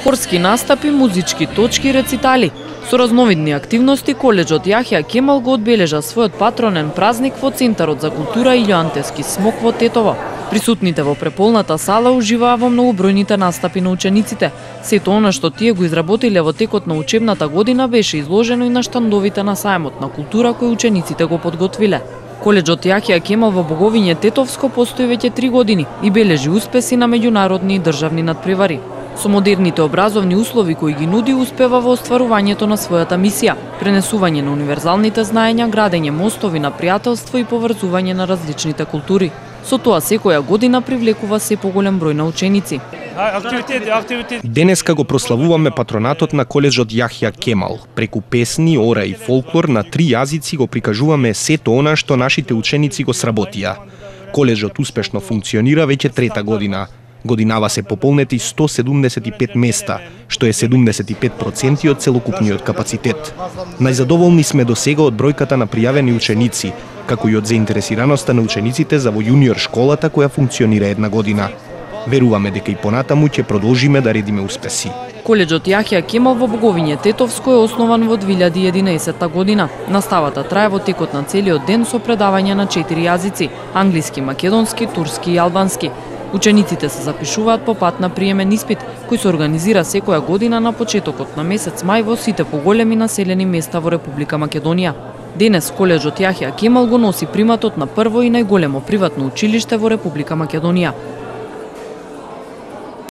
Хорски настапи, музички точки, рецитали. Со разновидни активности, коледжот Јахја Кемал го одбележа својот патронен празник во Центарот за култура Илјо Антевски смок во Тетово. Присутните во преполната сала уживаа во многобројните настапи на учениците. Сето она што тие го изработиле во текот на учебната година беше изложено и на штандовите на сајмот на култура кој учениците го подготвиле. Коледжот Јахја Кемал во Боговиње Тетовско постои веќе 3 години и бележи успеси на меѓународни и државни надпревари. Со модерните образовни услови кои ги нуди, успева во остварувањето на својата мисија – пренесување на универзалните знаења, градење мостови на пријателство и поврзување на различните култури. Со тоа секоја година привлекува се поголем број на ученици. Денеска го прославуваме патронатот на коледжот Јахја Кемал. Преку песни, ора и фолклор на 3 јазици го прикажуваме сето она што нашите ученици го сработија. Коледжот успешно функционира веќе 3-та година. Годинава се пополнети 175 места, што е 75% од целокупниот капацитет. Најзадоволни сме до сега од бројката на пријавени ученици, како и од заинтересираноста на учениците за во јуниор школата која функционира 1 година. Веруваме дека и понатаму ќе продолжиме да редиме успеси. Коледжот Јахја Кемал во Боговиње Тетовско е основан во 2011 година. Наставата трае во текот на целиот ден со предавања на 4 јазици – англиски, македонски, турски и албански. Учениците се запишуваат по пат на приемен испит, кој се организира секоја година на почетокот на месец мај во сите поголеми населени места во Република Македонија. Денес коледжот Јахја Кемал го носи приматот на прво и најголемо приватно училиште во Република Македонија.